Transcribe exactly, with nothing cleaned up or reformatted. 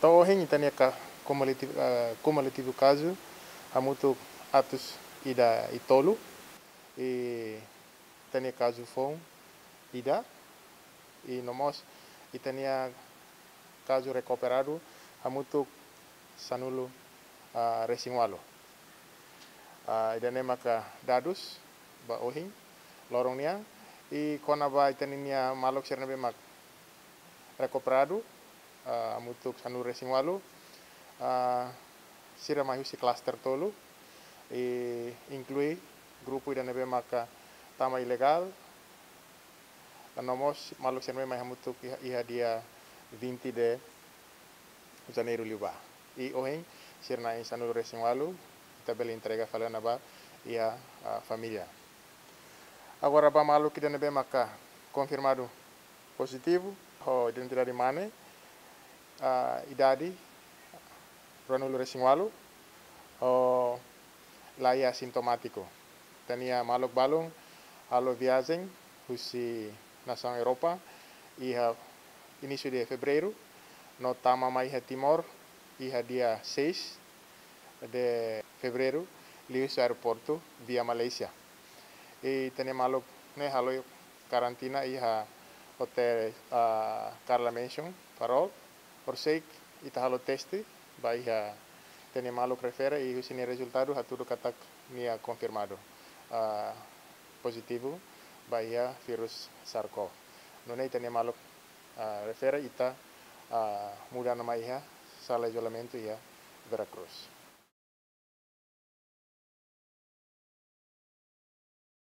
To'o ohin ita-nia ka-, kumulativu, ah, kumulativu kazu hamutuk atus ida i tolu, i ita-nia kazu foun ida, i no mós ita-nia kazu rekuperadu hamutuk sanulu, ah, resin ualu. Ah, ida-ne'e maka dadus ba ohin loron nian, i kona-ba ita-nia maluk sira ne'ebé mak rekuperadu, ah, hamutuk sanulu resin ualu, ah, sira mai husi klaster tolu, i inklui grupu ida ne'ebé maka tama ilegál, no mós maluk sira ne'ebé mai hamutuk iha, iha dia vinte de Janeiru liubá. I ohin sira na'in sanulu resin ualu, ita bele entrega fali ona ba iha, ah, família. Agora ba maluk ida ne'ebé maka konfirmadu pozitivu ho identidade mane, ah, idade ruanulu resin ualu, ho la iha sintomátiku. Ita-nia maluk balun halo viajen husi nasaun Europa iha inísiu de fevereiru, no tama mai iha Timor iha dia seis de fevereiru, liuhusi aeroportu via Malaysia. I ita-nia maluk ne'e halo karantina iha hotel, ah, Carla Mansion, Farol. Horiseik ita halo teste ba iha ita-nia maluk refere, i husi nia rezultadu hatudu katak nia konfirmadu, ah, pozitivu ba iha virus SARS-CoV. Nune'e ita-nia maluk, ah, refere ita, ah, muda ona mai iha sala izolamentu iha Vera Cruz.